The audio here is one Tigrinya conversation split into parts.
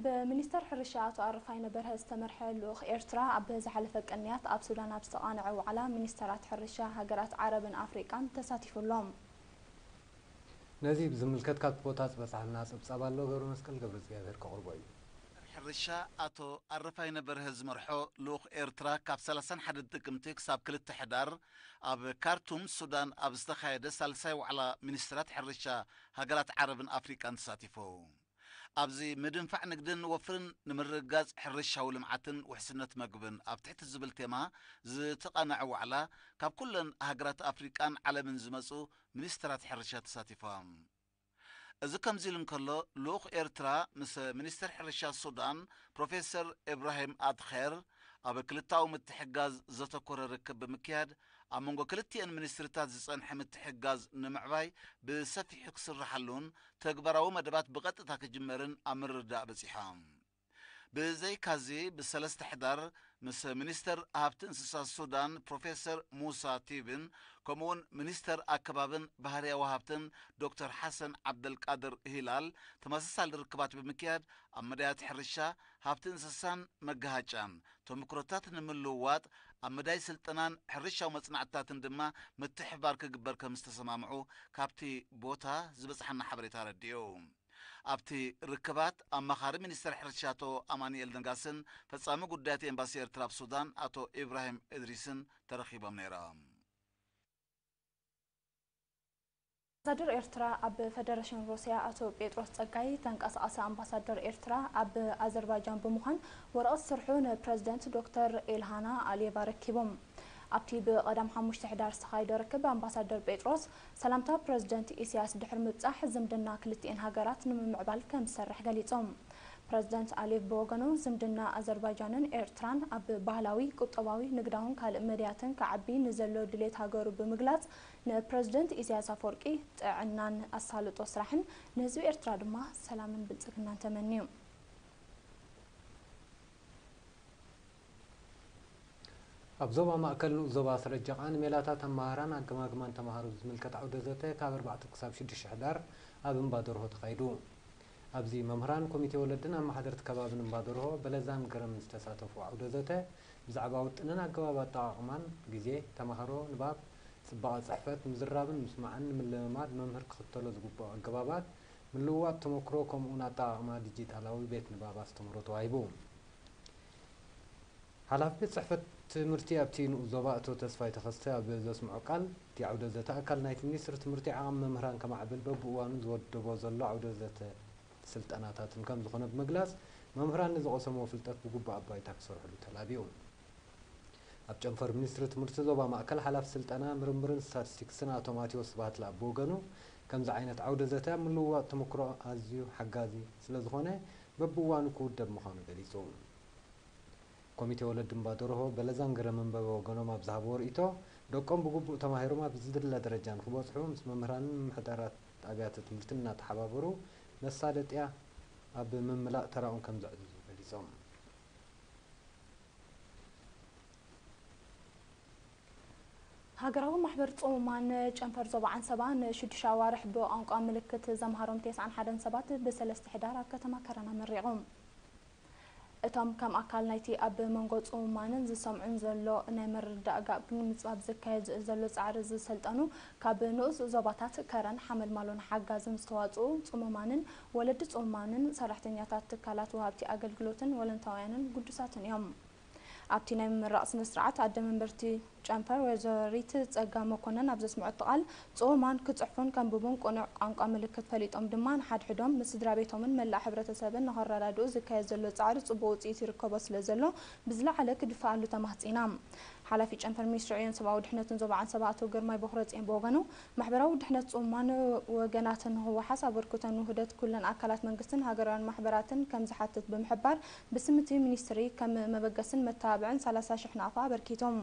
ብሚኒስተር ሕርሻ ኣቶ ኣረፋይነ በርሀ ዝተመርሐ ልኡኽ ኤርትራ ኣብ ዝሓለፈ ቅንያት ኣብ ሱዳን ኣብ ዝተቓነዐ ዋዕላ ሚኒስተራት ሕርሻ ሃገራት ዓረብን ኣፍሪቃን ተሳቲፉ ኣሎ። ነዚ ብዝምልከት ካብቲ ቦታ ዝበጽሓና ጸብጻብ ኣሎ፣ ገብረ መስቀል ገብረ እግዚኣብሔር ከቕርቦ እዩ። ሕርሻ ኣቶ ኣረፋይነ በርሀ ዝመርሖ ልኡኽ ኤርትራ ካብ ሰላሳን ሓደን ጥቅምቲ ክሳብ ክልተ ሕዳር ኣብ ካርቱም ሱዳን ኣብ ዝተኻየደ ሳልሳይ ዋዕላ ሚኒስትራት ሕርሻ ሃገራት ዓረብን ኣፍሪቃን ተሳቲፉ። ኣብዚ ምድንፋዕ ንግድን ወፍርን ንምርግጋጽ ሕርሻዊ ልምዓትን ውሕስነት መግብን ኣብ ትሕቲ ዝብል ቴማ ዝተቓነዐ ዋዕላ ካብ ኩለን ሃገራት ኣፍሪቃን ዓለምን ዝመጹ ሚኒስትራት ሕርሻ ተሳቲፎም። እዚ ከምዚ ኢሉ እንከሎ ልኡኽ ኤርትራ ምስ ሚኒስትር ሕርሻ ሱዳን ፕሮፌሰር ኢብራሂም ኣድኼር ኣብ ክልታዊ ምትሕጋዝ ዘተኮረ ርክብ ብምክያድ ኣብ መንጎ ክልቲኤን ሚኒስትርታት ዝጸንሐ ምትሕጋዝ ንምዕባይ ብሰፊሑ ክስርሓሉን ተግባራዊ መደባት ብቐጥታ ክጅመርን ኣብ ምርድዳእ በጺሖም። ብዘይካዚ ብሰለስተ ሕዳር ምስ ሚኒስተር ሃብቲ እንስሳ ሱዳን ፕሮፌሰር ሙሳ ቲብን ከምኡውን ሚኒስተር ኣከባብን ባህርያዊ ሃብትን ዶክተር ሓሰን ዓብደልቃድር ሂላል ተመሳሳሊ ርክባት ብምክያድ ኣብ መዳያት ሕርሻ፣ ሃብቲ እንስሳን መገሃጫን ተምክሮታት ንምልውዋጥ ኣብ መዳይ ስልጠናን ሕርሻዊ መጽናዕትታትን ድማ ምትሕብባር ክግበር ከም ዝተሰማምዑ ካብቲ ቦታ ዝበጽሓና ሓበሬታ ኣረዲኡ። ኣብቲ ርክባት ኣማኻሪ ሚኒስተር ሕርሻ ኣቶ ኣማኑኤል ነጋስን ፈጻሚ ጉዳያት ኤምባሲ ኤርትራ ኣብ ሱዳን ኣቶ ኢብራሂም እድሪስን ተረኺቦም ነይሮም። ኣምባሳደር ኤርትራ ኣብ ፈደረሽን ሩስያ ኣቶ ጴጥሮስ ጸጋይ፣ ተንቀሳቓሲ ኣምባሳደር ኤርትራ ኣብ ኣዘርባይጃን ብምዃን ወረቐት ስርሑ ንፕረዚደንት ዶክተር ኤልሃና ኣሊየቭ ኣረኪቦም። ኣብቲ ብቐዳም ሓሙሽተ ሕዳር ዝተኻየደ ርክብ ኣምባሳደር ጴጥሮስ ሰላምታ ፕረዚደንት ኢሳያስ ድሕሪ ምብጻሕ ዝምድና ክልቲኤን ሃገራት ንምምዕባል ከም ዝሰርሕ ገሊጾም። ፕረዚደንት ኣሊየቭ ብወገኑ ዝምድና ኣዘርባይጃንን ኤርትራን ኣብ ባህላዊ፣ ቁጠባዊ፣ ንግዳውን ካልእ መዳያትን ክዓቢ ንዘሎ ድሌት ሃገሩ ብምግላጽ ንፕረዚደንት ኢሳያስ ኣፈወርቂ ጥዕናን ኣሳልጦ ስራሕን ንህዝቢ ኤርትራ ድማ ሰላምን ብልጽግናን ተመንዩ። ኣብ ዞባ ማእከል ንኡስ ዞባ ስረጀቓ ንሜላታት ኣመሃህራን ኣገማግማን ተማሃሮ ዝምልከት ዓውደ ዘተ ካብ ኣርባዕተ ክሳብ ሽዱሽተ ሕዳር ኣብ እምባ ደርሆ ተኻይዱ። ኣብዚ መምህራን፣ ኮሚቴ ወለድን ኣመሓደርቲ ከባብን እምባ ደርሆ በለዛን ገረምን ዝተሳተፉ ዓውደ ዘተ ብዛዕባ ውጥንን ኣገባብ ኣጠቓቕማን ግዜ፣ ተማሃሮ፣ ንባብ፣ ጽባቐ ጽሕፈት፣ ምዝራብን ምስማዕን ንምልምማድ መምህር ክኽተሎ ዝግብኦ ኣገባባት፣ ምልውዋጥ ተመክሮ ከምኡውን ኣጠቓቕማ ዲጂታላዊ ቤት ንባብ ኣስተምህሮ ተዋሂቡ። ሓላፊ ቤት ጽሕፈት ትምህርቲ ኣብቲ ንኡስ ዞባ ኣቶ ተስፋይ ተኸስተ ኣብ ዘስምዖ ቃል፣ እቲ ዓውደ ዘተ ኣካል ናይቲ ሚኒስትሪ ትምህርቲ ዓቐሚ መምህራን ከማዕብል በብእዋኑ ዝወደቦ ዘሎ ዓውደ ዘተ ስልጠናታትን ከም ዝኾነ ብምግላጽ፣ መምህራን ንዝቐሰምዎ ፍልጠት ብግቡእ ኣብ ባይታ ክሰርሕሉ ተላብዩ። ኣብ ጨንፈር ሚኒስትሪ ትምህርቲ ዞባ ማእከል ሓላፊ ስልጠና፣ ምርምርን ስታቲስቲክስን ኣቶ ማቴዎስ ስብሃትለ ብወገኑ፣ ከምዚ ዓይነት ዓውደ ዘተ ኣብ ምልውዋጥ ተመክሮ ኣዝዩ ሓጋዚ ስለ ዝኾነ፣ በብእዋኑ ክውደብ ምዃኑ ገሊጹ። ኮሚቴ ወለዲ እምባ ደርሆ በለዛን ገረምን በበወገኖም ኣብ ዝሃብዎ ርእይቶ፣ ደቆም ብግቡእ ተማሂሮም ኣብ ዝድለ ደረጃ ንኽበጽሑ ምስ መምህራንን ምምሕዳራት ኣብያተ ትምህርትን እናተሓባበሩ መሳለጥያ ኣብ ምምላእ ተራኦም ከም ዘዕዝዙ ገሊጾም። ሃገራዊ ማሕበር ጽሙማን ጨንፈር ዞባ ዓንሰባ ንሽዱሽተ ኣዋርሕ ብቋንቋ ምልክት ዘምሃሮም ተስዓን ሓደን ሰባት ብሰለስተ ሕዳር ኣብ ከተማ ከረን ኣመሪቑ። እቶም ከም ኣካል ናይቲ ኣብ መንጎ ጽሙማንን ዝሰምዑን ዘሎ ናይ ምርድዳእ ጋብ ንምጽባብ ዝካየድ ዘሎ ጻዕሪ ዝሰልጠኑ ካብ ንኡስ ዞባታት ከረን፣ ሓመልማሎን ሓጋዝን ዝተዋጽኡ ጽሙማንን ወለዲ ጽሙማንን ሰራሕተኛታት ትካላት ወሃብቲ ኣገልግሎትን ወለንታውያንን ግዱሳትን እዮም። ኣብቲ ናይ ምምራቕ ስነ ስርዓት ኣደ መንበርቲ ጨንፈር ወይዘሪት ጸጋ መኮነን ኣብ ዘስምዐቶ ቃል፣ ጽሙማን ክጽሕፉን ከንብቡን ቅኑዕ ቋንቋ ምልክት ፈሊጦም ድማ ንሓድሕዶም፣ ንስድራ ቤቶምን መላእ ሕብረተሰብን ንኸረዳድኡ ዝካየድ ዘሎ ጻዕሪ ጽቡቕ ውጽኢት ይርከቦ ስለ ዘሎ ብዝለዓለ ክድፈኣሉ ተማህጺና። ሓላፊ ጨንፈር ሚኒስትሪ ዕዮን ሰብኣዊ ድሕነትን ዞባ ዓንሰባ ኣቶ ግርማይ ቦኽረጽዮን ብወገኑ፣ ማሕበራዊ ድሕነት ጽሙማን ወገናትን ንኽወሓስ ኣበርክቶን ውህደት ኩለን ኣካላት መንግስትን ሃገራውያን ማሕበራትን ከም ዝሓትት ብምሕባር፣ ብስም እቲ ሚኒስትሪ ከም መበገስን መተባብዕን ሰላሳ ሽሕ ናቕፋ ኣበርኪቶም።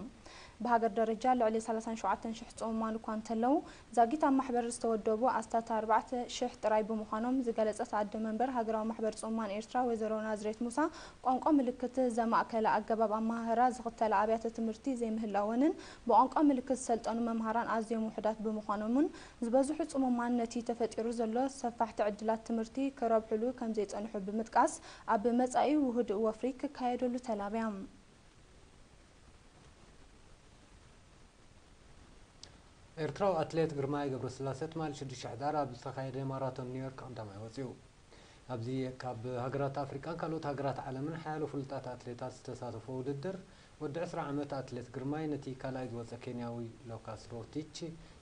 ብሃገር ደረጃ ልዕሊ ሰላሳን ሸውዓተን ሽሕ ጽሙማን እኳ እንተለዉ፣ ዛጊት ኣብ ማሕበር ዝተወደቡ ኣስታት ኣርባዕተ ሽሕ ጥራይ ብምዃኖም ዝገለጸት ኣደ መንበር ሃገራዊ ማሕበር ጽሙማን ኤርትራ ወይዘሮ ናዝሬት ሙሳ፣ ቋንቋ ምልክት ዘማእከለ ኣገባብ ኣመሃህራ ዝኽተላ ኣብያተ ትምህርቲ ዘይምህላወንን ብቋንቋ ምልክት ዝሰልጠኑ መምሃራን ኣዝዮም ውሑዳት ብምዃኖምን፣ ዝበዝሑ ጽሙማን ነቲ ተፈጢሩ ዘሎ ሰፋሕቲ ዕድላት ትምህርቲ ክረብሕሉ ከምዘይጸንሑ ብምጥቃስ፣ ኣብ መጻኢ ውሁድ ወፍሪ ክካየደሉ ተላብያ። ኤርትራዊ ኣትሌት ግርማይ ገብረስላሴ ትማሊ ሽዱሽተ ሕዳር ኣብ ዝተኻየደ ማራቶን ኒውዮርክ ቀዳማይ ወጺኡ። ኣብዚ ካብ ሃገራት ኣፍሪቃን ካልኦት ሃገራት ዓለምን ሓያሎ ፍሉጣት ኣትሌታት ዝተሳተፎ ውድድር፣ ወዲ ዕስራ ዓመት ኣትሌት ግርማይ ነቲ ካልኣይ ዝወጸ ኬንያዊ ሎካስ ሮቲች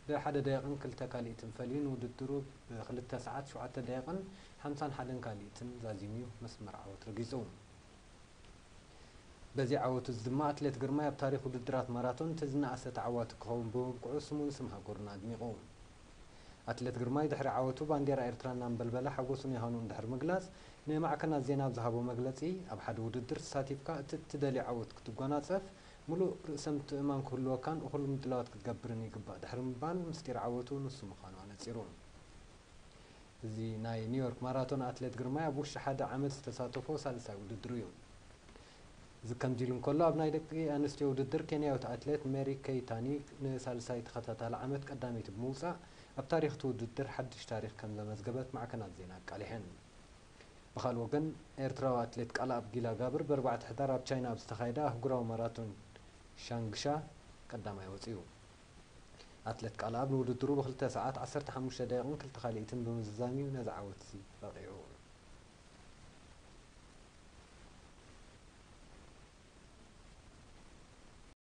ብሓደ ደቂቕን ክልተ ካልኢትን ፈልዩ ንውድድሩ ብክልተ ሰዓት ሸውዓተ ደቂቕን ሓምሳን ሓደን ካልኢትን ዛዚሙ መስመር ዓወት ረጊጹ። በዚ ዓወቱ እዚ ድማ ኣትሌት ግርማይ ኣብ ታሪኽ ውድድራት ማራቶን እቲ ዝነኣሰ ተዓዋቲ ክኸውን ብምብቅዑ ስሙን ስም ሃገሩን ኣድሚቑ። ኣትሌት ግርማይ ድሕሪ ዓወቱ ባንዴራ ኤርትራ እናንበልበለ ሓጎሱን የሃኑን ድሕሪ ምግላጽ፣ ንማዕከናት ዜና ኣብ ዝሃቦ መግለጺ፣ ኣብ ሓደ ውድድር ተሳቲፍካ እቲ እትደልዮ ዓወት ክትጓናጸፍ፣ ምሉእ ርእሰ ምትእምማን ክህልወካን እኹል ምድላዋት ክትገብርን ይግባእ ድሕሪ ምባል፣ ምስጢር ዓወቱ ንሱ ምዃኑ ኣነጺሩ። እዚ ናይ ኒውዮርክ ማራቶን ኣትሌት ግርማይ ኣብ ውሽጢ ሓደ ዓመት ዝተሳተፎ ሳልሳይ ውድድሩ እዩ። እዚ ከምዚ ኢሉ እንከሎ፣ ኣብ ናይ ደቂ ኣንስትዮ ውድድር ኬንያዊት ኣትሌት ሜሪ ኬይታኒ ንሳልሳይ ተኸታታሊ ዓመት ቀዳመይቲ ብምውጻእ፣ ኣብ ታሪኽ እቲ ውድድር ሓድሽ ታሪኽ ከም ዘመዝገበት ማዕከናት ዜና ኣቃሊሐን። ብኻልእ ወገን፣ ኤርትራዊ ኣትሌት ቃልኣብ ጊላ ጋብር ብኣርባዕተ ሕዳር ኣብ ቻይና ኣብ ዝተኻየደ ኣህጉራዊ ማራቶን ሻንግሻ ቀዳማይ ወጺኡ። ኣትሌት ቃልኣብ ንውድድሩ ብክልተ ሰዓት ዓሰርተ ሓሙሽተ ደቂቕን ክልተ ካልኢትን ብምዝዛም እዩ ነዚ ዓወት እዚ በቒዑ።